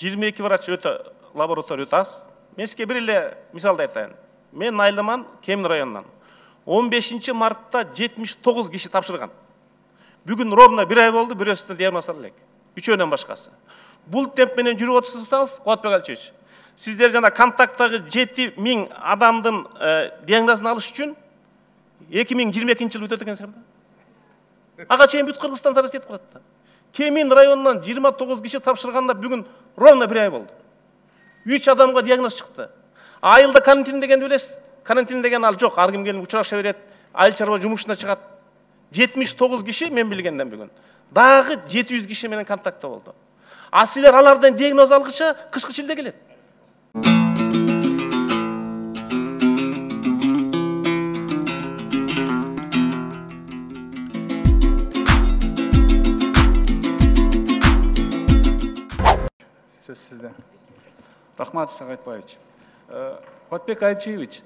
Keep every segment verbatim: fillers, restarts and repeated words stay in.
жыйырма эки врач өтө лаборатория өтө аз. Мен сизге бир эле мисалды айтайын. Мен Айлыман, Кемин районунан. он бешинчи мартта жетимиш тогуз киши тапшырган. Бүгүн ровно бир ай болду, бирөөсүнө диагноз ала элек. Үчөөнөн башкасы. Бул темп менен жүрүп отурсаңыз, Кубатбек Алчевич, сиздер жана контакттагы жети миң адамдын диагнозун алыш үчүн эки миң жыйырма экинчи жыл өтөт экенсиңер да. Ага чейин бүт Кыргызстан зарас этип калат да. Кемин районунан жыйырма тогуз киши тапшырганда бүгүн ровно бир ай болду. үч адамга диагноз чыкты. Айылда карантин дегенди билесиз? Карантин деген ал жок, ар ким келип учураша берет, айыл чарба жумушуна чыгат. жетимиш тогуз киши мен билгенден бүгүн. Дагы жети жүз киши менен контактта болду. А силер алардан диагноз алгыча кышкы чилде келет. Сөз сизде. Рахмат, Сагайтбаевич. Кубатбек Алчевич,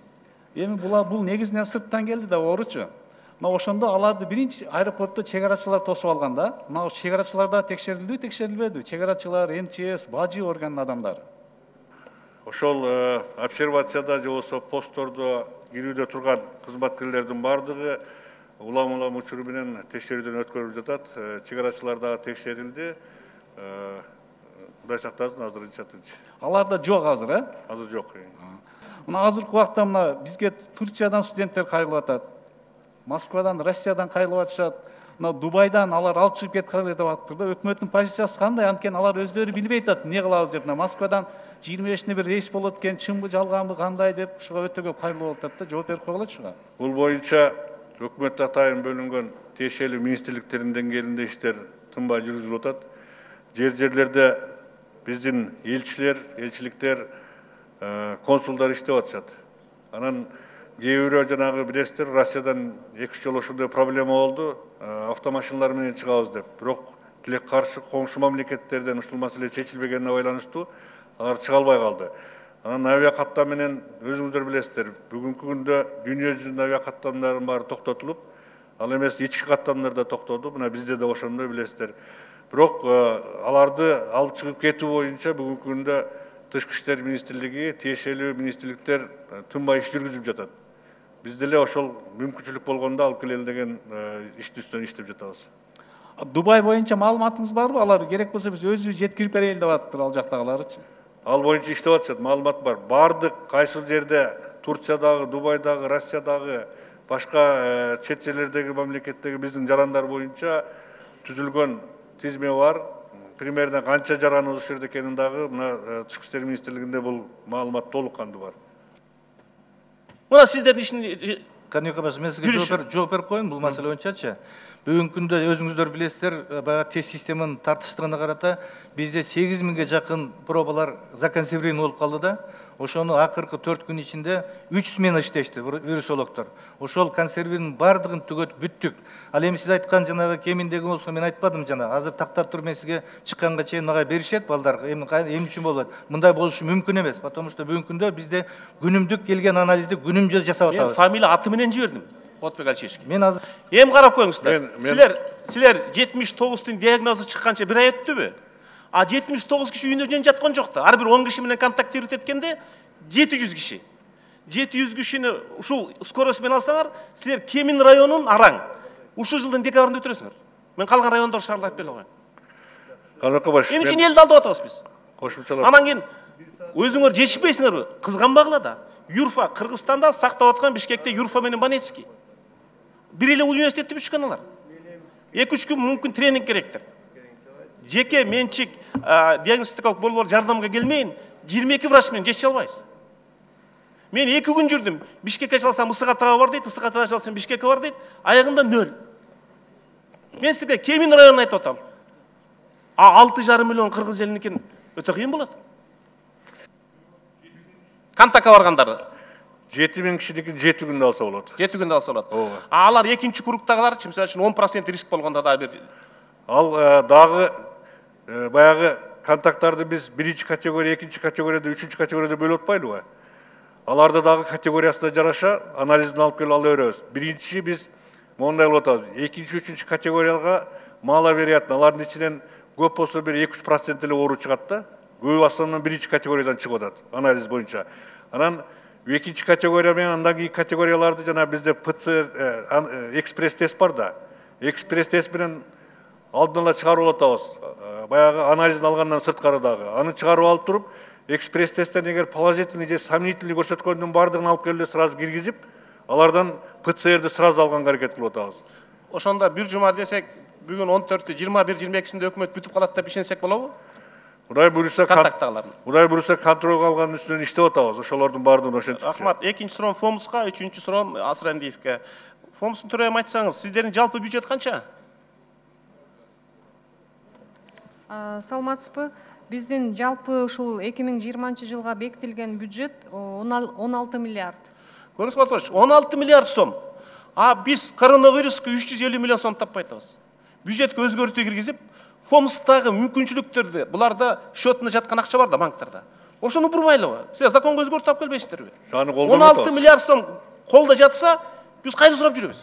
эми була бул негизинен сырттан келди да ооручу. Мына ошондо аларды биринчи аэропортто чек арачылар тосуп алган да. Мына чек арачылар да текшерилди, текшерилбеди? Чек арачылар, эм че эс, бажы органынын адамдары. Ошол обсервацияда же болбосо посттордо кирүүдө турган кызматкерлердин бардыгы улам-улам учуру менен текшерүүдөн өткөрүлүп жатат. Чек арачылар да текшерилди. Кудай сактасын, азырынча тынч. Аларда жок азыр, э? Азыр жок. Мына азыркы убакта мына бизге Турциядан студенттер кайрылып атат. Москвадан, Россиядан кайрылып атышат. Мына Дубайдан алар алып чыгып кеткиле деп атыптыр да. Өкмөттүн позициясы кандай? Анткени алар өздөрү билбей атат, эмне кылабыз деп. Москвадан жыйырма бешине бир рейс болот экен, чынбы жалганбы кандай деп ушуга өтө көп кайрылып атат да. Жооп берип койгула ушуга. Бул боюнча өкмөт атайын бөлүнгөн тиешелүү министрликтердин деңгээлинде иштер тынбай жүргүзүлүп атат. Жер-жерлерде биздин элчилер, элчиликтер, консулдар иштеп атышат. Анан кээ бирөө жанагы билесиздер, Россиядан эки үч жолу ушундай проблема болду, автомашиналар менен чыгабыз деп. Бирок тилек каршы коңшу мамлекеттерден ушул маселе чечилбегенине байланыштуу алар чыга албай калды. Анан авиа каттам менен өзүңүздөр билесиздер, бүгүнкү күндө дүйнө жүзүнүн авиа каттамдарынын баары токтотулуп, ал эмес ички каттамдар да токтоду. Мына бизде да ошондой билесиздер. Бирок аларды алып чыгып кетүү боюнча бүгүнкү күндө Тышкы иштер министрлиги, тиешелүү министрликтер тынбай иш жүргүзүп жатат. Биз деле ошол мүмкүнчүлүк болгондо алып келели деген иштин үстүнөн иштеп жатабыз. Дубай боюнча маалыматыңыз барбы? Алар керек болсо биз өзүбүз жеткирип берели деп атыптыр ал жактагыларычы. Ал боюнча иштеп атышат, маалымат бар. Бардык кайсы жерде Турциядагы, Дубайдагы, Россиядагы, башка чет жерлердеги мамлекеттеги биздин жарандар боюнча түзүлгөн тизме бар. Примерно канча жаран ушул жерде экенин дагы мына Тышкы иштер министрлигинде бул маалымат толук кандуу бар. Мына сиздердин ишин Каныбек абаш, мен сизге жооп берип коеюн бул маселе боюнчачы. Бүгүнкү күндө өзүңүздөр билесиздер, баягы тест системанын тартыштыгына карата бизде сегиз миңге жакын пробалар законсервирован болуп калды да. Ошону акыркы төрт күн ичинде үч смена иштешти вирусологдор. Ошол консервинин бардыгын түгөтүп бүттүк. Ал эми сиз айткан жанагы Кеминдеги болсо мен айтпадым жана. Азыр тактап туруп мен сизге чыкканга чейин мага беришет балдар. Эми эмне үчүн болот? Мындай болушу мүмкүн эмес, потому что бүгүнкү күндө бизде күнүмдүк келген анализди күнүмдүк жасап атабыз. Мен фамилия аты менен жибердим. Кубатбек Алчевичке. Мен азыр эми карап коюңуздар. Силер силер жетимиш тогуздун диагнозу чыкканча бир ай өттүбү? А жетимиш тогуз киши үйүндө жөн жаткан жок да. Ар бир он киши менен контактировать эткенде жети жүз киши. жети жүз кишини ушул скорость менен алсаңар, силер Кемин районунун араң. Ушул жылдын декабрында өтүрөсүңөр. Мен калган райондор шаарларды айтып бере коеюн. Каныбек абаш. Эмне үчүн элди алдап атабыз биз? Кошумчалап. Анан кийин өзүңөр жетишпейсиңерби? Кызганбагыла да. Юрфа Кыргызстанда сактап аткан, Бишкекте Юрфа менен Банецкий. Бир эле университетти бүткөн алар. эки үч күн мүмкүн тренинг керектир. Жеке менчик диагностикалык борбор жардамга келмейин, жыйырма эки врач менен жетише албайбыз. Мен эки күн жүрдүм. Бишкекке чалсам Ысык Атага бар дейт, Ысык Атага чалсам Бишкекке бар дейт. Аягында нөл. Мен сизге Кемин районун айтып атам. А алты жарым миллион кыргыз элиникин өтө кыйын болот. Кантакка баргандары жети миң кишиникин жети күндө алса болот. жети күндө алса болот. А алар экинчи кругтагыларчы, мисалы үчүн он процент риск болгондо да бир. Ал дагы баягы контакттарды биз биринчи категория, экинчи категорияда, үчүнчү категорияда бөлүп атпайлыбы? Аларды дагы категориясына жараша анализин алып келип ала беребиз. Биринчи биз мондай кылып атабыз. Экинчи, үчүнчү категорияга мало вероятно. Алардын ичинен көп болсо бир эки үч процент эле оору чыгат да. Көбү основном биринчи категориядан чыгып атат анализ боюнча. Анан экинчи категория менен андан кийинки категорияларды жана бизде ПЦР экспресс тест бар да. Экспресс тест менен алдын ала чыгарып атабыз. Баягы анализдин алгандан сырткары дагы. Аны чыгарып алып туруп, экспресс тесттен эгер положительный же сомнительный көрсөткөндүн бардыгын алып келип сразу киргизип, алардан ПЦРди сразу алганга аракет кылып атабыз. Ошондо бир жума десек, бүгүн он төртү, жыйырма бир, жыйырма экисинде өкмөт бүтүп калат деп ишенсек болобу? Кудай буюрса, контакттагылардын. Кудай буюрса контролго алган үстүнөн иштеп атабыз. Ошолордун бардыгын ошентип. Рахмат. Экинчи суроом Фомуска, үчүнчү суроом Асырандиевке. Фомустун төрайым айтсаңыз, сиздердин жалпы бюджет канча? Саламатсызбы? Биздин жалпы ушул эки миң жыйырманчы жылга бекитилген бюджет он алты миллиард. Көрүңүз отурчу, он алты миллиард сом. А биз коронавируска үч жүз элүү миллион сом таппай атабыз. Бюджетке өзгөртүү киргизип, Фомустагы мүмкүнчүлүктөрдү, буларда счетуна жаткан акча бар да банктарда. Ошону бурмайлыбы? Силер законго өзгөртүп алып келбейсиздерби? он алты миллиард сом колдо жатса, биз кайда сурап жүрөбүз?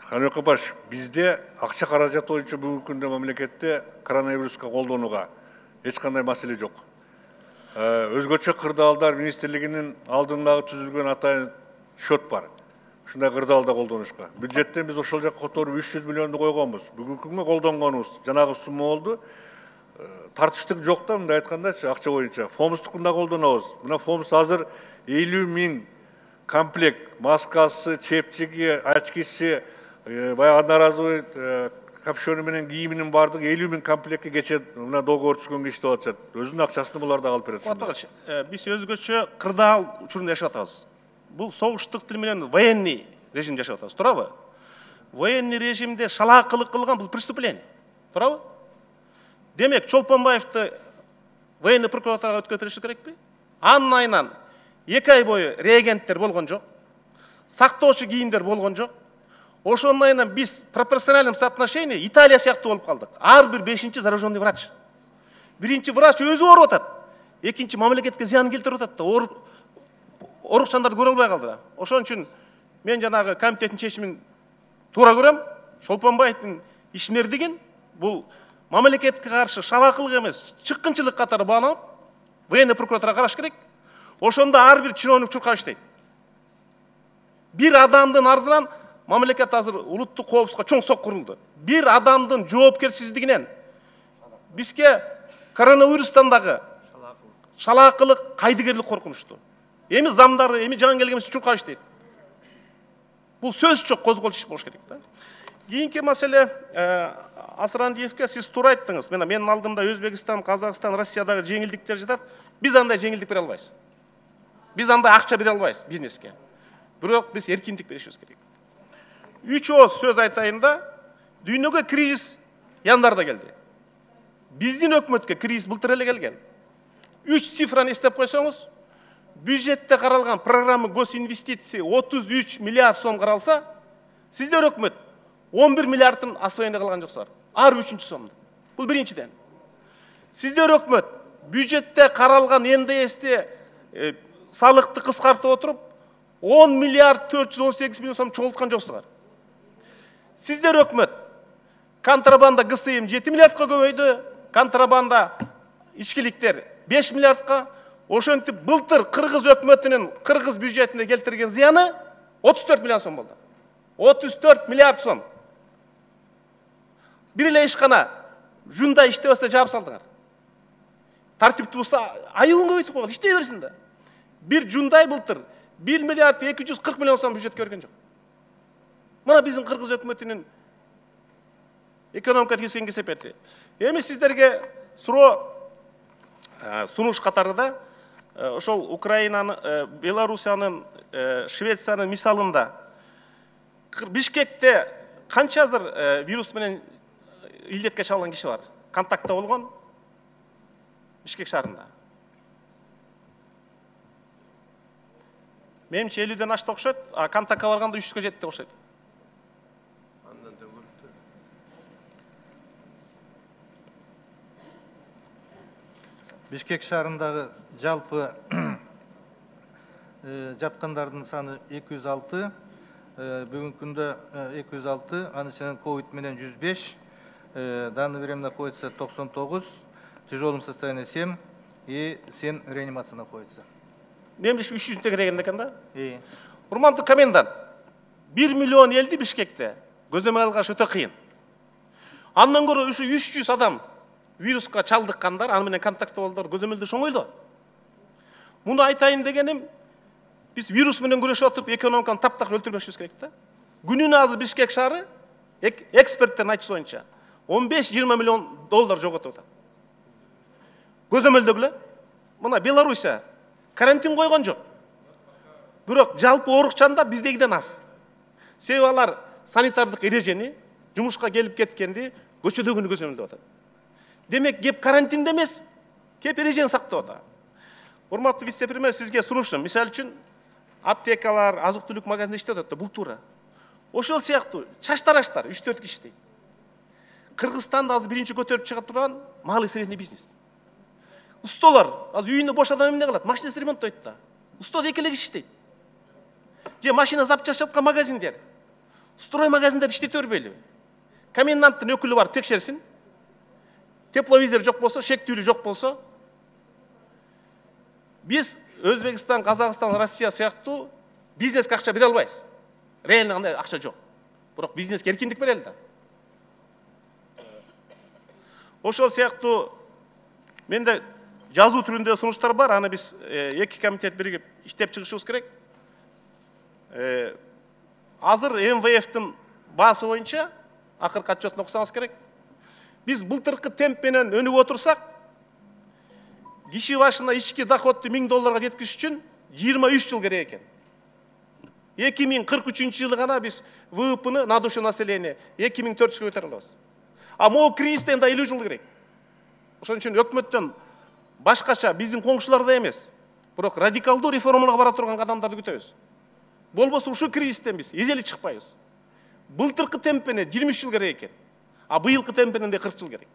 Каныбек Апаш, бизде акча каражаты боюнча бүгүнкү күндө мамлекетте коронавируска колдонууга эч кандай маселе жок. Өзгөчө кырдаалдар министрлигинин алдындагы түзүлгөн атайын счет бар. Ушундай кырдаалда колдонушка. Бюджеттен биз ошол жакка которуп үч жүз миллионду койгонбуз. Бүгүнкү күнгө колдонгонубуз жанагы сумма болду. Тартыштык жок да, мындай айткандачы, акча боюнча. Фомустукун да колдонобуз. Мына Фомус азыр элүү миң комплект маскасы, чепчиги, очкиси, баягы одноразовый капюшону менен кийиминин бардыгы элүү миң комплектке кече мына договор түзгөнгө иштеп атышат. Өзүнүн акчасын булар да алып берет. Биз өзгөчө кырдаал учурунда жашап атабыз. Бул согуштук тил менен военный режим жашап атабыз, туурабы? Военный режимде шалаакылык кылган бул преступление. Туурабы? Демек, Чолпонбаевди военный прокуратурага өткөрүп бериш керекпи? Анын айынан эки ай бою реагенттер болгон жок. Сактоочу кийимдер болгон жок. Ошонун айынан биз пропорциональным соотношением Италия сыяктуу болуп калдык. Ар бир бешинчи зараженный врач. Биринчи врач өзү ооруп атат. Экинчи мамлекетке зыян келтирип атат да. Орукчандарды көрө албай калды. Ошон үчүн мен жанагы комитеттин чечимин туура көрөм. Чолпонбаевдин ишмердигин бул мамлекетке каршы шалаакылык эмес, чыккынчылык катары баанып, военный прокуратурага караш керек. Ошондо ар бир чиновник чуркап иштейт. Бир адамдын ардынан мамлекет азыр улуттук коопсузлукка чоң сок курулду. Бир адамдын жоопкерсиздигинен бизге коронавирустан дагы шалаакылык, кайдыгерлик коркунучтуу. Эми замдары, эми жаңы келген чуркап иштейт. Бул сөз жок, козголчу иш болуш керек да. Кийинки маселе Асырандиевке сиз туура айттыңыз. Мына менин алдымда Өзбекстан, Казакстан, Россиядагы жеңилдиктер жатат. Биз андай жеңилдик бере албайбыз. Биз андай акча бере албайбыз бизнеске. Бирок биз эркиндик беришибиз керек. Үч ооз сөз айтайын да, дүйнөгө кризис яндарда келди. Биздин өкмөткө кризис былтыр эле келген. Үч цифраны эстеп койсоңуз, бюджетте каралган программа госинвестиция отуз үч миллиард сом каралса, сиздер өкмөт он бир миллиардтын освоение кылган жоксуңар. Ар үчүнчү сомду. Бул биринчиден. Сиздер өкмөт бюджетте каралган эн дэ эсте салыкты кыскартып отуруп он миллиард төрт жүз он сегиз миллион сом чогулткан жоксуңар. Сиздер өкмөт контрабанда гэ эс эм жети миллиардка көбөйдү, контрабанда ичкиликтер беш миллиардка. Ошентип былтыр Кыргыз өкмөтүнүн Кыргыз бюджетине келтирген зыяны отуз төрт миллион сом болду. отуз төрт миллиард сом. Бир эле ишкана жунда иштебесе жаап салдыңар. Тартиптүү болсо айыбын көбөйтүп койгон, иштей берсин да. Бир жундай былтыр бир миллиард эки жүз кырк миллион сом бюджетке берген жок. Мына биздин Кыргыз өкмөтүнүн экономика кескен кесепети. Эми сиздерге суроо сунуш катарында ошол Украинанын, Белоруссиянын, Швециянын мисалында Бишкекте канча азыр вирус менен илдетке чалган киши бар? Контактта болгон Бишкек шаарында. Менимче элүүдөн ашты окшойт, а контактка барганда үч жүзгө жетти деп окшойт. Бишкек шаарындагы жалпы жаткандардын саны эки жүз алты, бүгүнкү күндө эки жүз алты, анын ичинен ковид менен жүз беш, данный время находится токсон тогуз, в тяжелом состоянии семь и семь реанимация находится. Мен үч жүзүнтө кереген экен да. И Урмандуу комендант, бир миллион элди Бишкекте көзөмөл алгаш өтө кыйын. Андан көрө ушу үч жүз адам вируска чалдыккандар, аны менен контакт болдур, көзөмөлдө оңойло. Муну айтайын дегеним, биз вирус менен күрөшүп атып, экономиканы таптакыр өлтүрбөшүбүз керек да. Күнүнө азыр Бишкек шаары эксперттердин айтышы боюнча он беш жыйырма миллион доллар жоготуп атат. Көзөмөлдөгүлө, мына Белоруссия карантин койгон жок. Бирок жалпы оорукчандар биздегиден аз. Себеби алар санитардык эрежени, жумушка келип кеткенди көчөдөгүнү көзөмөлдөп атат. Демек, кеп карантинде эмес, кеп эрежени сактап атат. Урматтуу вице-премьер, сизге сунушум. Мисалы үчүн, аптекалар, азык-түлүк магазинде иштеп атат, бул туура. Ошол сыяктуу чач тараштар үч төрт киши иштейт. Кыргызстанда азыр биринчи көтөрүп чыга турган малый средний бизнес. Устолор, азыр үйүндө бош адам эмне кылат? Машинасы ремонттойт да. Устода эки эле киши иштейт. Же машина запчасть саткан магазиндер, строй магазиндер иштете бербейли. Коменданттын өкүлү бар, текшерсин. Тепловизор жок болсо, шектүүлү жок болсо, биз Өзбекстан, Казакстан, Россия сыяктуу бизнеске акча бере албайбыз. Реально андай акча жок. Бирок бизнеске эркиндик берели да. Ошол сыяктуу менде жазуу түрүндө сунуштар бар, аны биз эки комитет биригип иштеп чыгышыбыз керек. Азыр эм вэ эфтин баасы боюнча акыркы отчетун окусаңыз керек. Биз былтыркы темп менен өнүгүп отурсак, киши башына ички доходду миң долларга жеткизиш үчүн жыйырма үч жыл керек экен. эки миң кырк үчүнчү жылы гана биз вэ и пны на душу населения эки миң төрт жүзгө көтөрө алабыз. А могу кризистен да элүү жыл керек. Ошон үчүн өкмөттөн башкача биздин коңшуларда эмес, бирок радикалдуу реформаларга бара турган кадамдарды күтөбүз. Болбосо ушул кризистен биз эзели чыкпайбыз. Былтыркы темп менен жыйырма үч жыл керек экен. А быйылкы темп менен де кырк жыл керек.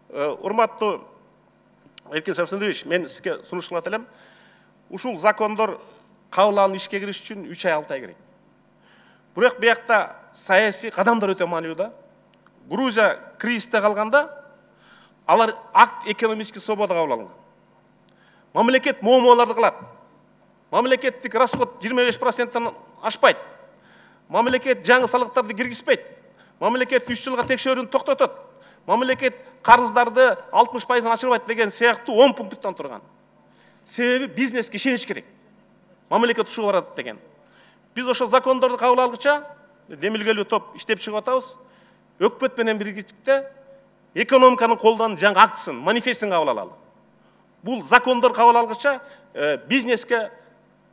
Урматтуу Эркин Шамсуллович, мен сизге сунуш кылат элем. Ушул закондор кабыл алынып ишке кириш үчүн үч ай алты ай керек. Бирок биякта саясий кадамдар өтө маанилүү да. Грузия кризисте калганда алар акт экономический свобода кабыл алган. Мамлекет моомолорду кылат. Мамлекеттик расход жыйырма беш проценттен ашпайт. Мамлекет жаңы салыктарды киргизбейт. Мамлекет үч жылга текшерүүнү токтотот. Мамлекет карыздарды алтымыш пайыздан ашырбайт деген сыяктуу он пункттан турган. Себеби бизнеске ишенич керек. Мамлекет ушуга барат деген. Биз ошол закондорду кабыл алгыча демилгелүү топ иштеп чыгып атабыз. Өкмөт менен биргиктикте экономиканын колдон жаңы актысын, манифестин кабыл алалы. Бул закондор кабыл алгыча бизнеске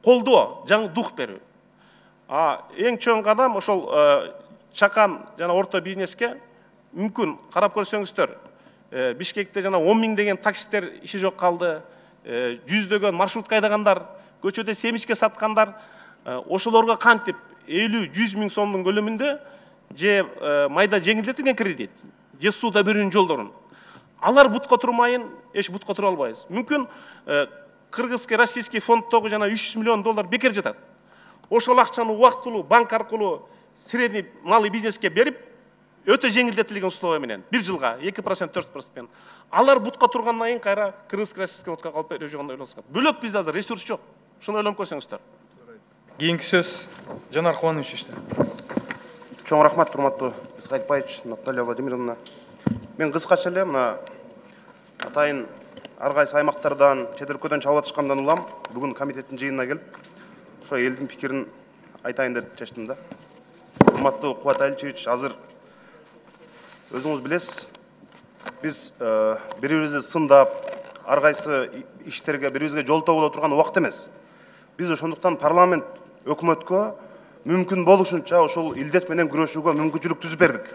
колдоо, жаңы дух берүү. А эң чоң кадам ошол чакан жана орто бизнеске мүмкүн карап көрсөңүздөр, Бишкекте жана он миң деген таксисттер иши жок калды, жүздөгөн маршрутка айдагандар, көчөдө семичке саткандар, ошолорго кантип элүү жүз миң сомдун көлөмүндө же майда жеңилдетилген кредит, же сууда берүүнүн жолдорун. Алар бутка турмайын, эч бутка тура албайбыз. Мүмкүн кыргызский, российский фонддогу жана үч жүз миллион доллар бекер жатат. Ошол акчаны убактылуу банк аркылуу средний малый бизнеске берип, өтө жеңилдетилген условия менен бир жылга эки процент төрт процент. Алар бутка тургандан кийин кайра кыргызский, российский фондко калып берүү жагында ойлонсак. Бөлөк бизде азыр ресурс жок. Ошону ойлонуп көрсөңүздөр. Кийинки сөз Жанар Кубанович. Чоң рахмат, урматтуу Исхакбаевич, Наталья Владимировна. Мен кыскача эле мына атайын ар кайсы аймактардан, чет өлкөдөн чалып атышкандан улам бүгүн комитеттин жыйынына келип, ошо элдин пикирин айтайын деп чечтим да. Урматтуу Кубат Аличевич, азыр өзүңүз билесиз, биз бири-бирибизди сындап, ар кайсы иштерге бири-бирибизге жолтоо боло турган убакыт эмес. Биз ошондуктан парламент өкмөткө мүмкүн болушунча ошол илдет менен күрөшүүгө мүмкүнчүлүк түзүп бердик.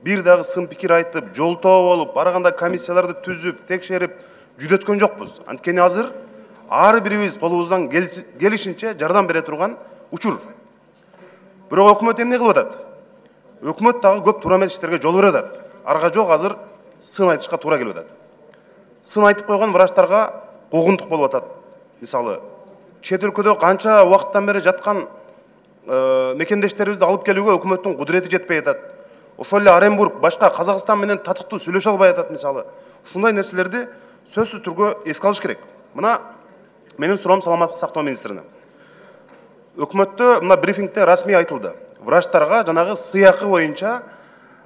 Бир дагы сын пикир айтып, жолтоо болуп, барганда комиссияларды түзүп, текшерип, жүдөткөн жокпуз. Анткени азыр ар бирибиз колубуздан келишинче жардам бере турган учур. Бирок өкмөт эмне кылып атат? Өкмөт дагы көп туура эмес иштерге жол берип атат. Арга жок азыр сын айтышка туура келип атат. Сын айтып койгон врачтарга куугунтук болуп атат. Мисалы, чет өлкөдө канча убакыттан бери жаткан мекендештерибизди алып келүүгө өкмөттүн кудурети жетпей атат. ошол эле Оренбург башка Казакстан менен татыктуу сүйлөшө албай атат мисалы. Ушундай нерселерди сөзсүз түрдө эске алыш керек. Мына менин суроом саламаттык сактоо министрине. Өкмөттө мына брифингде расмий айтылды. Врачтарга жанагы сыйакы боюнча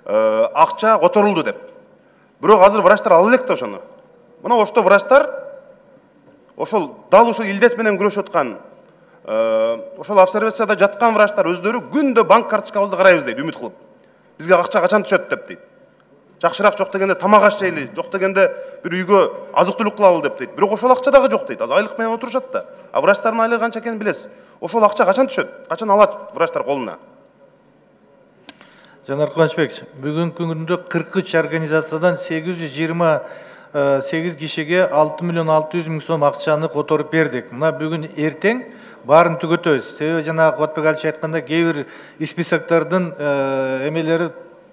акча которулду деп. Бирок азыр врачтар ала элек да ошону. Мына ошто врачтар ошол дал ошол илдет менен күрөшүп аткан ошол обсервацияда жаткан врачтар өздөрү күндө банк карточкабызды карайбыз дейт, үмүт кылып. Бизге акча качан түшөт деп дейт. Жакшыраак жок дегенде тамак аш жейли, жок дегенде бир үйгө азык-түлүк кылалы деп дейт. Бирок ошол акча дагы жок дейт. Азыр айлык менен отурушат да. А врачтардын айлыгы канча экенин билесиз. Ошол акча качан түшөт? Качан алат врачтар колуна? Жанар Кубанычбекович, бүгүнкү күндө кырк үч организациядан сегиз жүз жыйырма сегиз кишиге алты миллион алты жүз миң сом акчаны которуп бердик. Мына бүгүн эртең баарын түгөтөбүз. Себеби жана Кубатбек Алиевич айткандай, кээ бир списоктордун эмелери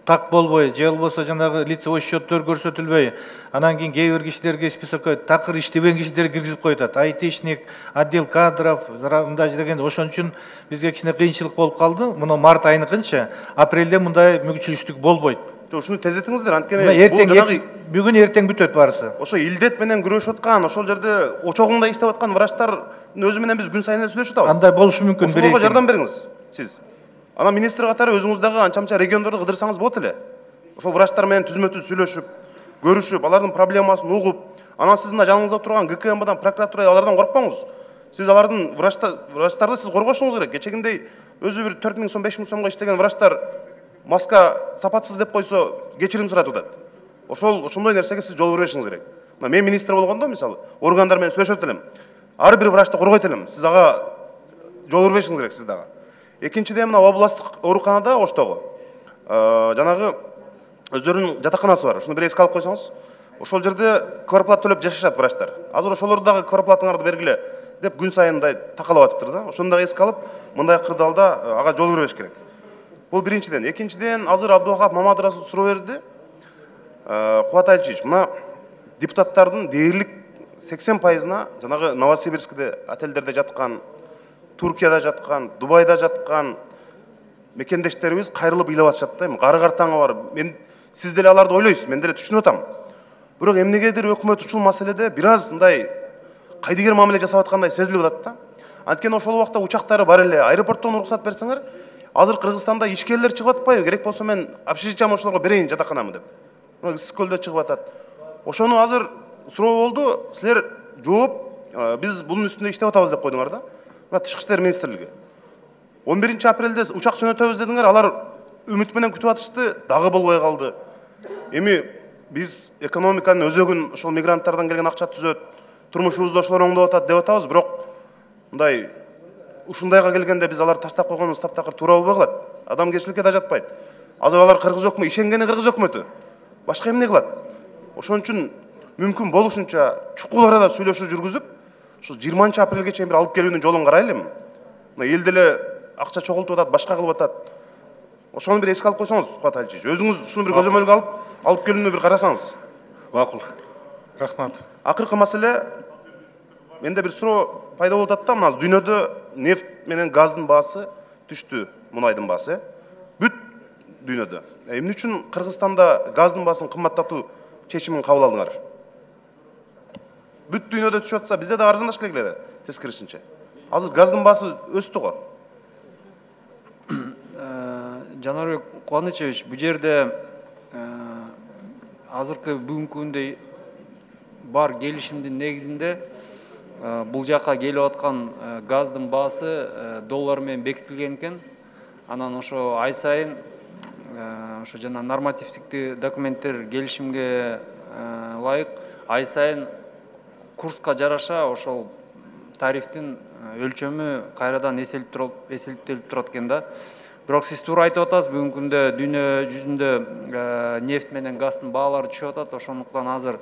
так болбой, же болбосо жанагы лицевой счеттор көрсөтүлбөй, анан кийин кээ бир кишилерге списокко такыр иштебеген кишилерди киргизип коюшат. Айтишник, отдел кадров, мындай дегенде ошон үчүн бизге кичине кыйынчылык болуп калды. Муну март айыныкынча, апрелде мындай мүмкүнчүлүктүк болбойт. Ушуну тездетиңиздер, анткени бул жанагы бүгүн эртең бүтөт баарысы. Ошо илдет менен күрөшүп аткан, ошол жерде очогунда иштеп аткан врачтардын өзү менен биз күн сайын эле сүйлөшүп атабыз. Андай болушу мүмкүн. Ошого жардам бериңиз сиз. Анан министр катары өзүңүз дагы анча-мынча региондорду кыдырсаңыз болот эле. Ошол врачтар менен түзмө-түз сүйлөшүп, көрүшүп, алардын проблемасын угуп, анан сиз мына жаныңызда турган ГКМБдан, прокуратура алардан коркпоңуз. Сиз алардын врачтарды сиз коргошуңуз керек. Кечегиндей өзү бир төрт миң сом, беш миң сомго иштеген врачтар маска сапатсыз деп койсо кечирим суратып атат. Ошол ошондой нерсеге сиз жол бербешиңиз керек. Мына мен министр болгондо мисалы органдар менен сүйлөшөт элем. Ар бир врачты коргойт элем. Сиз ага жол бербешиңиз керек сиз дагы. Экинчиден мына областтык ооруканада Оштогу жанагы өздөрүнүн жатаканасы бар. Ушуну бир эске алып койсоңуз, ошол жерде квартплата төлөп жашашат врачтар. Азыр ошолорду дагы квартплатаңарды бергиле деп күн сайындай такалап атыптыр да. Ошону дагы эске алып, мындай кырдаалда ага жол бербеш керек. Бул биринчиден. Экинчиден, азыр Абдувахап Мамадырасов суроо берди. Кубат Алиевич, мына депутаттардын дээрлик сексен пайызына жанагы Новосибирскте, отелдерде жаткан, Туркияда жаткан, Дубайда жаткан мекендештерибиз кайрылып ыйлап атышат да. Кары картаңы бар. Мен сиз деле аларды ойлойсуз, мен деле түшүнүп атам. Бирок эмнегедир өкмөт ушул маселеде бир аз мындай кайдыгер мамиле жасап аткандай сезилип атат да. Анткени ошол убакта учактары бар эле, аэропорттон уруксат берсеңер, азыр Кыргызстанда ишкерлер чыгып атпайбы? Керек болсо мен общежитиям ошолорго берейин жатаканамы деп. Мына Ысык-Көлдө чыгып атат. Ошону азыр суроо болду, силер жооп, биз бунун үстүндө иштеп атабыз деп койдуңар да. Мына Тышкы иштер министрлиги. он биринчи апрелде учак жөнөтөбүз дедиңер, алар үмүт менен күтүп атышты, дагы болбой калды. Эми биз экономиканын өзөгүн ошол мигранттардан келген акча түзөт, турмушубузду ошолор оңдоп атат деп атабыз, бирок мындай ушундайга келгенде биз аларды таштап койгонубуз таптакыр туура болбой калат. Адамгерчиликке да жатпайт. Азыр алар кыргыз өкмөтү, ишенгени кыргыз өкмөтү. Башка эмне кылат? Ошон үчүн мүмкүн болушунча чукул арада сүйлөшүү жүргүзүп, ушул жыйырманчы апрелге чейин бир алып келүүнүн жолун карайлы. Мына эл деле акча чогултуп атат, башка кылып атат. Ошону бир эске алып койсоңуз, Кубат Алиевич, өзүңүз ушуну бир көзөмөлгө алып, алып келүүнү бир карасаңыз. Макул. Рахмат. Акыркы маселе, менде бир суроо пайда болуп атат да, мына дүйнөдө нефть менен газдын баасы түштү, мунайдын баасы. Бүт дүйнөдө. Эмне үчүн Кыргызстанда газдын баасын кымбаттатуу чечимин кабыл алдыңар? Бүт дүйнөдө түшүп атса, бизде да арзандаш керек эле, тескерисинче. Азыр газдын баасы өстү го. Жанарбек Кубанычевич, бул жерде азыркы бүгүнкү күндө бар келишимдин негизинде бул жака келип аткан газдын баасы доллар менен бекитилген экен. Анан ошо ай сайын ошо жана нормативдик документтер келишимге ылайык ай сайын курска жараша ошол тарифтин өлчөмү кайрадан эселтелип турат экен да. Бирок сиз туура айтып атасыз, бүгүнкү күндө дүйнө жүзүндө нефть менен газдын баалары түшүп атат. Ошондуктан азыр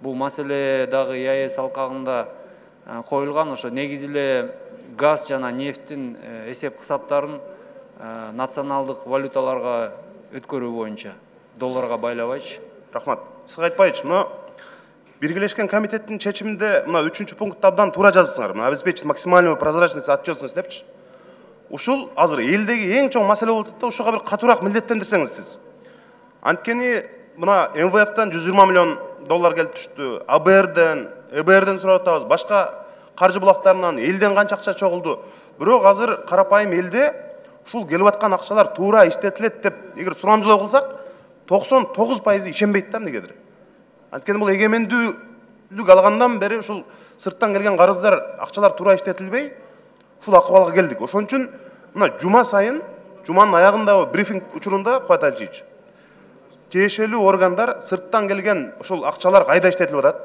бул маселе дагы и а эс алкагында коюлган. Ошо негизи эле газ жана нефттин эсеп кысаптарын националдык валюталарга өткөрүү боюнча, долларга байлабайчы. Рахмат. Сиз айтпайчы, мына Биргелешкен комитеттин чечиминде мына үчүнчү пунктта абдан туура жазыпсыңар. Мына обеспечить максимальную прозрачность и отчетность депчи. Ушул азыр элдеги эң чоң маселе болуп атат да, ушуга бир катуураак милдеттендирсеңиз сиз. Анткени мына эм вэ эфтен жүз жыйырма миллион доллар келип түштү, а бэ эрден, э бэ эрден сурап атабыз, башка каржы булактарынан элден канча акча чогулду. Бирок азыр карапайым элде ушул келип аткан акчалар туура иштетилет деп эгер сурамжылоо кылсак, токсон тогуз пайызы ишенбейт да эмнегедир. Анткени бул эгемендүүлүк алгандан бери ушул сырттан келген карыздар, акчалар туура иштетилбей, ушул акыбалга келдик. Ошон үчүн мына жума сайын, жуманын аягындагы брифинг учурунда Кубат Алиевич, тиешелүү органдар сырттан келген ушул акчалар кайда иштетилип атат?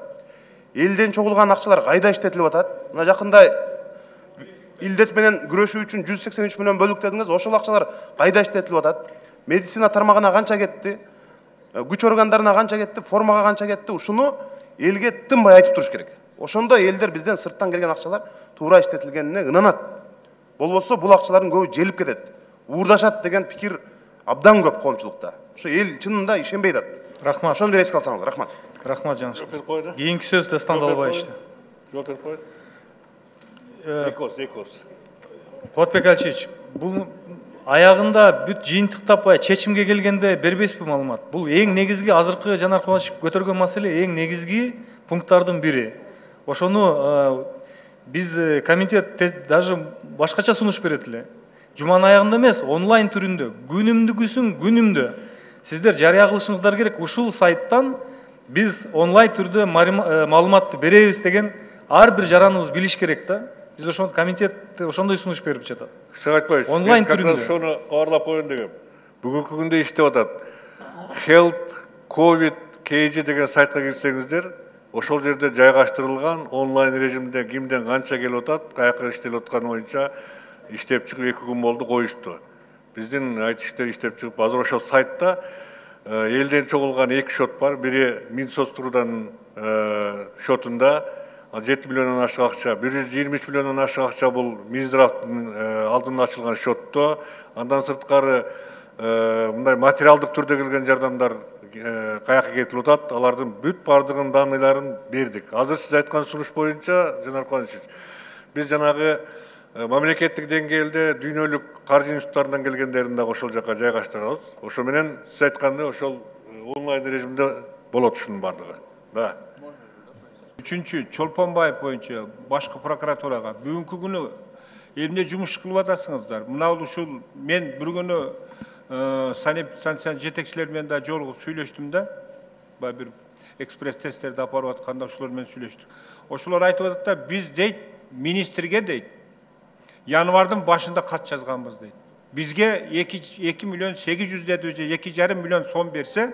Элден чогулган акчалар кайда иштетилип атат? Мына жакында илдет менен күрөшүү үчүн жүз сексен үч миллион бөлдүк дедиңиз, ошол акчалар кайда иштетилип атат? Медицина тармагына канча кетти? Күч органдарына канча кетти? Формага канча кетти? Ушуну элге тынбай айтып туруш керек. Ошондо элдер бизден сырттан келген акчалар туура иштетилгенине ынанат. Болбосо бул акчалардын көбү желип кетет, уурдашат деген пикир абдан көп коомчулукта. Ошо эл чынында ишенбей атат. Рахмат. Ошону эске алсаңыз, рахмат. Рахмат Жанышев. Кийинки сөз Дастан Далбаевичте. Жооп берип коет. Экос, экос. Кубатбек Алиевич, бул аягында бүт жыйынтыктап чечимге келгенде бербейсизби маалымат? Бул эң негизги азыркы Жанар Кубанович көтөргөн маселе, эң негизги пункттардын бири. Ошону биз комитет даже башкача сунуш берет эле. Жуманын аягында эмес, онлайн түрүндө, күнүмдүгүсүн күнүмдө сиздер жарыя кылышыңыздар керек. Ушул сайттан биз онлайн түрдө маалыматты беребиз деген ар бир жараныбыз билиш керек да. Биз ошондо комитет ошондой сунуш берип жатат. Айтпайсыз. Онлайн түрүндө. Ошону кабарлап коеюн дегем. Бүгүнкү күндө иштеп атат. Help COVID кей джи деген сайтка кирсеңиздер, ошол жерде жайгаштырылган онлайн режимде кимден канча келип атат, каяка иштелип атканы боюнча иштеп чыгып эки күн болду коюшту. Биздин айт иштер иштеп чыгып, азыр ошол сайтта элден чогулган эки шот бар. Бири Минсоцтруудан шотунда жети миллиондон ашык акча, бир жүз жыйырма үч миллиондон ашык акча бул Минздравдын алдында ачылган шотто. Андан сырткары мындай материалдык түрдө келген жардамдар каяка кетип атат, алардын бүт бардыгын данныйларын бердик. Азыр сиз айткан сунуш боюнча, Жанар Кубанович, биз жанагы мамлекеттик деңгээлде дүйнөлүк каржы институттарынан келгендерин дагы ошол жака жайгаштырабыз. Ошо менен сиз айткандай ошол онлайн режимде болот ушунун бардыгы. Да. Үчүнчү, Чолпонбаев боюнча башкы прокуратурага бүгүнкү күнү эмне жумуш кылып атасыңыздар? Мына ушул мен бир күнү санэпидстанция жетекчилери менен да жолугуп сүйлөштүм да. Баягы бир экспресс тесттерди апарып атканда ошолор менен сүйлөштүк. Ошолор айтып атат да, биз дейт министрге дейт январдын башында кат жазганбыз дейт. Бизге эки миллион сегиз жүз деді же эки жарым миллион сом берсе,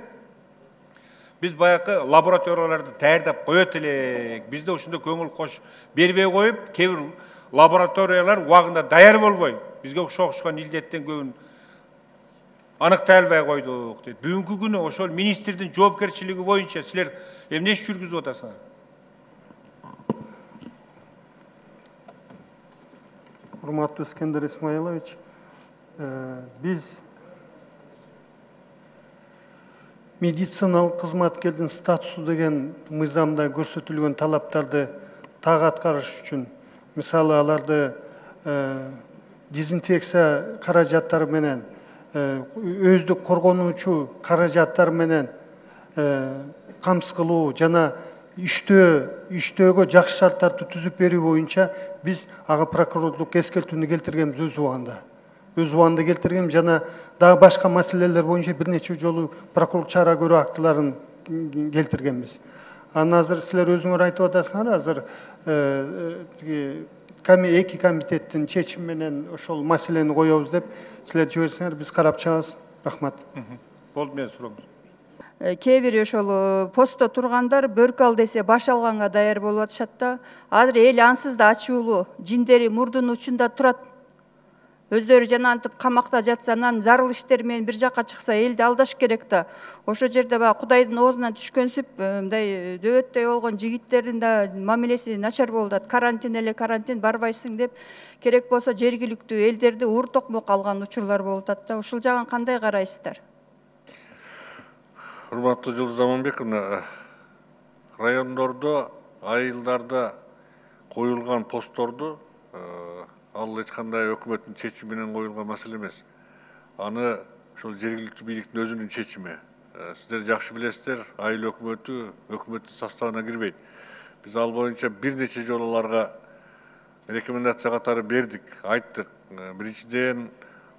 biz баягы лабораторияларды даярдап коет элек. Бизде ушунда көңүл кош бербей коюп, кээ бир лабораториялар убагында даяр болбой, бизге окшогон илдеттен көбүн аныктай албай койдук дейт. Бүгүнкү күнү ошол министрдин жоопкерчилиги боюнча силер эмне иш жүргүзүп атасыңар? Урматтуу Искендер Исмаилович, биз медициналык кызматкердин статусу деген мыйзамда көрсөтүлгөн талаптарды так аткарыш үчүн, мисалы аларды дезинфекция каражаттары менен, өздүк коргонуучу каражаттар менен камсыз кылуу жана иштөө иштөөгө жакшы шарттарды түзүп берүү боюнча биз ага прокурорлук эскертүүнү келтиргенбиз өз убагында. Өз убагында келтиргем жана дагы башка маселелер боюнча бир нече жолу прокурорлук чара көрүү актыларын келтиргенбиз. Анан азыр силер өзүңөр айтып атасыңар, азыр эки комитеттин чечими менен ошол маселени коебуз деп силер жиберсеңер биз карап чыгабыз. Рахмат. Болду, мен сурам. Кээ бир ошол постто тургандар бөркү ал десе баш алганга даяр болуп атышат да. Азыр эл ансыз да ачуулуу, жиндери мурдунун учунда турат. Өздөрү жанантып камакта жатса, анан зарыл иштер менен бир жакка чыкса элди алдаш керек да. Ошол жерде баягы Кудайдын оозунан түшкөн сүп, мындай дөбөттөй болгон жигиттердин да мамилеси начар болуп атат. Карантин эле карантин барбайсың деп, керек болсо жергиликтүү элдерди уур токмок алган учурлар болуп атат да. Ушул жагын кандай карайсыздар? Урматтуу Жылдыз Аманбековна, райондордо, айылдарда коюлган постторду ал эч кандай өкмөттүн чечими менен коюлган маселе эмес. Аны ошол жергиликтүү бийликтин өзүнүн чечими. сиздер жакшы билесиздер, айыл өкмөтү өкмөттүн составына кирбейт. Биз ал боюнча бир нече жолу аларга рекомендация катары бердик, айттык. Биринчиден,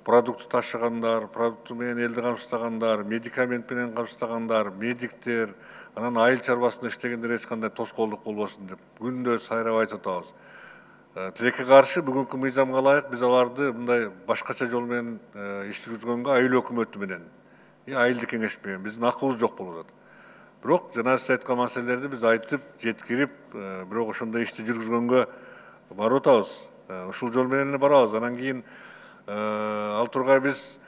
продукты ташыгандар, продукты менен элди камсыздагандар, медикамент менен камсыздагандар, медиктер, анан айыл чарбасында иштегендер эч кандай тоскоолдук болбосун деп күндө сайрап айтып атабыз. Тилекке каршы бүгүнкү мыйзамга ылайык биз аларды мындай башкача жол менен иш жүргүзгөнгө айыл өкмөтү менен, айылды кеңеш менен биздин акыбыз жок болуп атат. Бирок жана сиз айткан маселелерди биз айтып, жеткирип, бирок ошондой ишти жүргүзгөнгө барып атабыз. Ушул жол менен эле барабыз. Анан кийин ал тургай биз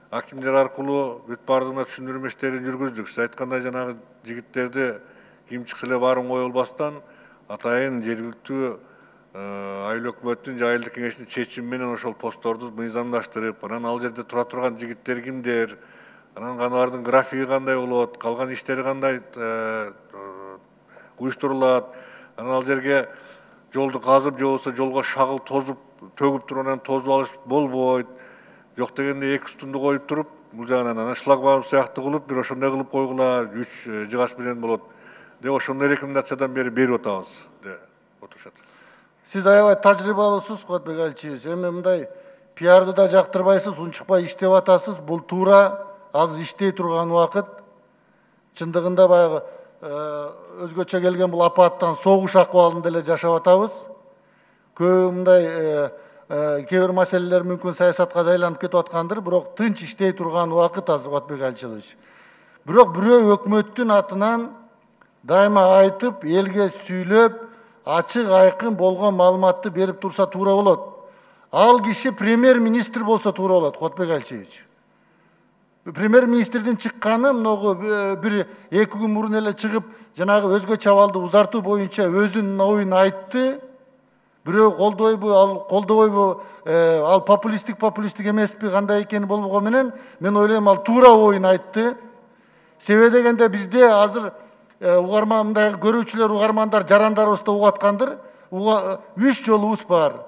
акимдер аркылуу бүт баардыгына түшүндүрмө иштерин жүргүздүк. Сиз айткандай жанагы жигиттерди ким чыкса эле баарын кое албастан атайын жергиликтүү айыл өкмөттүн же айылдык кеңештин чечими менен ошол постторду мыйзамдаштырып, анан ал жерде тура турган жигиттер кимдер, анан алардын графиги кандай болот, калган иштери кандай уюштурулат, анан ал жерге жолду казып же болбосо жолго шагыл тозуп төгүп туруп анан тозуп алыш болбойт. Жок дегенде эки стунду коюп туруп, бул жагынан анан шлагбаум сыяктуу кылып, бир ошондой кылып койгула, үч жыгач менен болот деп ошондой рекомендациядан бери берип атабыз деп отурушат. Сиз аябай тажрыйбалуусуз, Куатбек Аличевич. Эми мындай пиарды да жактырбайсыз, унчукпай иштеп атасыз. Бул туура, азыр иштей турган убакыт. Чындыгында баягы өзгөчө келген бул апаттан согуш акыбалында эле жашап атабыз. Көп мындай кээ бир маселелер мүмкүн саясатка да айланып кетип аткандыр, бирок тынч иштей турган убакыт азыр, Куатбек Аличевич. Бирок бирөө өкмөттүн атынан дайыма айтып, элге сүйлөп, ачык айкын болгон маалыматты берип турса туура болот. Ал киши премьер-министр болсо туура болот, Куатбек Аличевич. Премьер-министрдин чыкканы многу бир эки күн мурун эле чыгып, жанагы өзгөчө абалды узартуу боюнча өзүнүн оюн айтты. Бирөө колдойбу, ал колдобойбу, ал популисттик популисттик эмеспи, кандай экени болбого менен, мен ойлойм ал туура оюн айтты. Себеби дегенде бизде азыр угарман мындай көрүүчүлөр, угармандар, жарандарыбызда угуп аткандыр. Үч жолубуз бар.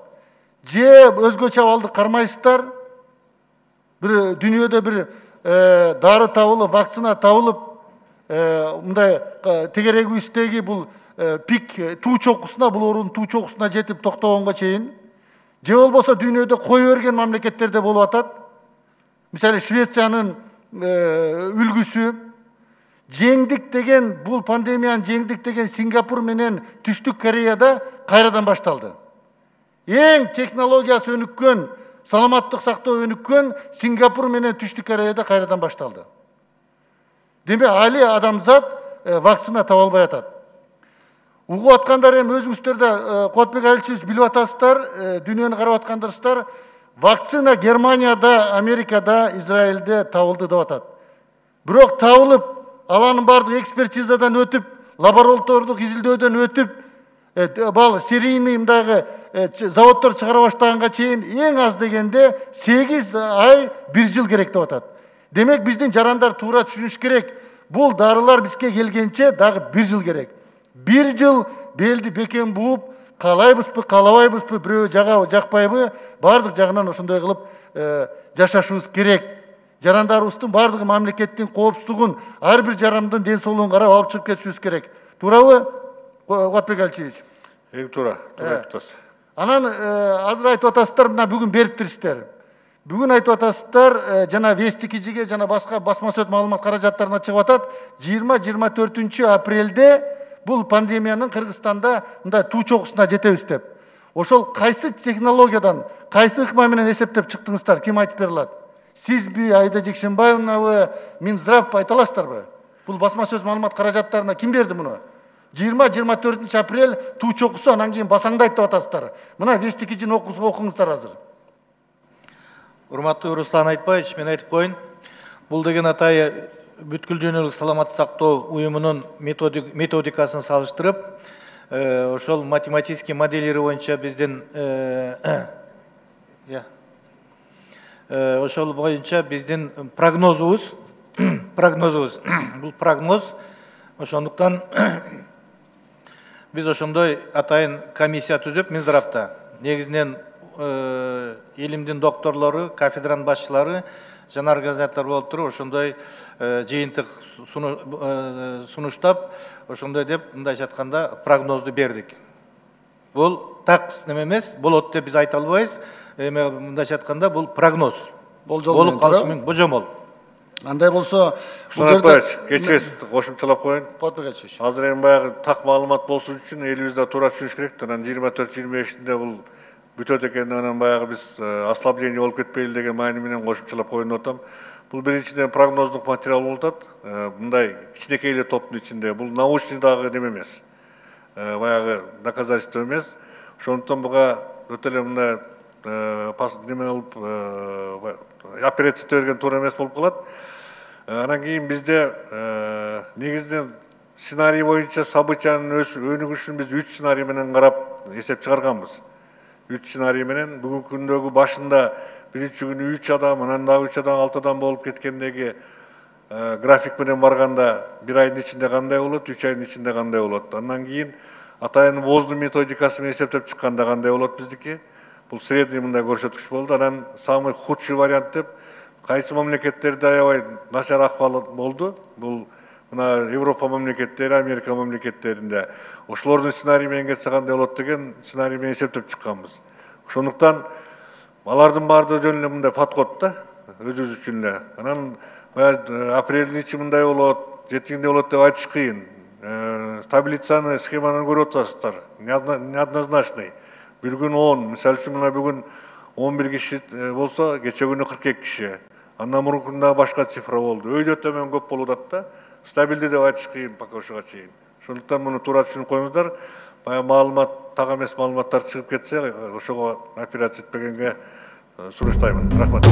Же өзгөчө абалды кармайсыздар. Бир дүйнөдө бир дары табылып, вакцина табылып, мындай тегерегүүбүздөгү бул пик туу чокусуна, бул оорунун туу чокусуна жетип токтогонго чейин. Же болбосо дүйнөдө кое берген мамлекеттерде болуп атат. Мисалы Швециянын үлгүсү. Жеңдик деген, бул пандемияны жеңдик деген Сингапур менен Түштүк Кореяда кайрадан башталды. Эң технологиясы өнүккөн, саламаттык сактоо өнүккөн Сингапур менен Түштүк Кореяда кайрадан башталды. Демек, али адамзат вакцина таба албай атат. Угуп аткандар эми өзүңүздөр да Куатбек Аличевич билип атасыздар, дүйнөнү карап аткандарсыздар. Вакцина Германияда, Америкада, Израилде табылды деп атат. Бирок табылып, аланын бардыгы экспертизадан өтүп, лаборатордук изилдөөдөн өтүп, бал серийный мындагы заводдор чыгара баштаганга чейин эң аз дегенде сегиз ай, бир жыл керек деп атат. Демек, биздин жарандар туура түшүнүш керек. Бул дарылар бизге келгенче дагы бир жыл керек. Бир жыл белди бекем бууп, каалайбызбы, каалабайбызбы, бирөө жагабы, жакпайбы, бардык жагынан ошондой кылып жашашыбыз керек. Жарандарыбыздын бардыгы мамлекеттин коопсуздугун, ар бир жарандын ден соолугун карап алып чыгып кетишибиз керек. Туурабы, Куатбек Аличевич? Эң туура, туура айтып атасыз. Анан азыр айтып атасыздар, мына бүгүн бериптирсиздер. Бүгүн айтып атасыздар, жана Вести кижиге, жана башка басма сөз маалымат каражаттарына чыгып атат. жыйырма жыйырма төртүнчү апрелде бул пандемиянын Кыргызстанда мындай туу чокусуна жетебиз деп. Ошол кайсы технологиядан, кайсы ыкма менен эсептеп чыктыңыздар? Ким айтып бере алат? Сизби, Айда Жекшенбаевнабы, Минздравбы айта аласыздарбы? Бул басма сөз маалымат каражаттарына ким берди муну? жыйырма жыйырма төртүнчү апрель туу чокусу, анан кийин басаңдайт деп атасыздар. Мына Вести кижини окуңуздар азыр. Урматтуу Руслан Айтбаевич, мен айтып коеюн. Бул деген атай бүткүл дүйнөлүк саламаттык сактоо уюмунун методикасын салыштырып, ошол математический моделleri боюнча биздин ошол боюнча биздин прогнозубуз, прогнозубуз, бул прогноз, ошондуктан биз ошондой атайын комиссия түзүп, Минздравда негизинен илимдин докторлору, кафедранын башчылары жанар газеттер болуп туруп ошондой жыйынтык сунуштап ошондой деп мындайча айтканда прогнозду бердик. Бул так неме эмес, болот деп биз айта албайбыз. Эми мындайча айтканда бул прогноз. Болуп калышы мүмкүн, божомол. Андай болсо, Сунатбаевич, кечиресиз, кошумчалап коеюн. Кошумчалап. Азыр эми баягы так маалымат болсун үчүн элибизде туура түшүнүш керек. Анан жыйырма төрт жыйырма бешинде бул бүтөт экен, анан баягы биз ослабление болуп кетпейли деген маани менен кошумчалап коеюн деп атам. Бул биринчиден прогноздук материал болуп атат. Мындай кичинекей эле топтун ичинде. Бул научный дагы неме эмес. Баягы доказательство эмес. Ошондуктан буга өтө эле мындай неме болуп операция берген туура эмес болуп калат. Анан кийин бизде негизинен сценарий боюнча событиянын өнүгүшүн биз үч сценарий менен карап эсеп чыгарганбыз. Үч сценарий менен бүгүнкү күндөгү башында биринчи күнү үч адам, анан дагы үч адам, алты адам болуп кеткендеги график менен барганда бир айдын ичинде кандай болот, үч айдын ичинде кандай болот. Андан кийин атайын воздун методикасы менен эсептеп чыкканда кандай болот биздики. Бул средний мындай көрсөткүч болду. Анан самый худший вариант деп кайсы мамлекеттерде аябай начар акыбал болду. Бул мына Европа мамлекеттери, Америка мамлекеттеринде ошолордун сценарий менен кетсе кандай болот деген сценарий менен эсептеп чыкканбыз. Ошондуктан алардын баардыгы жөн эле мындай подход да, өзүбүз үчүн эле. Анан апрелдин ичи мындай болот, жетиңде болот деп айтыш кыйын. Таблицаны, схеманы көрүп атасыздар. Неоднозначный. Bir gün on, misal üçün mına bugün on bir kişi bolsa, geçe günü kırk iki kişi. Andan murukunda başka sifra oldu. Öyle tömen köp boludat da, stabildi de aytış kıyın paka oşuğa çeyin. Şonduktan bunu tuura düşünüp koyuңuzдар. Baya malumat, tak emes malumatlar çıkıp ketse, oşuğa operatsiya etpegenge suruштаймын. Рахмат.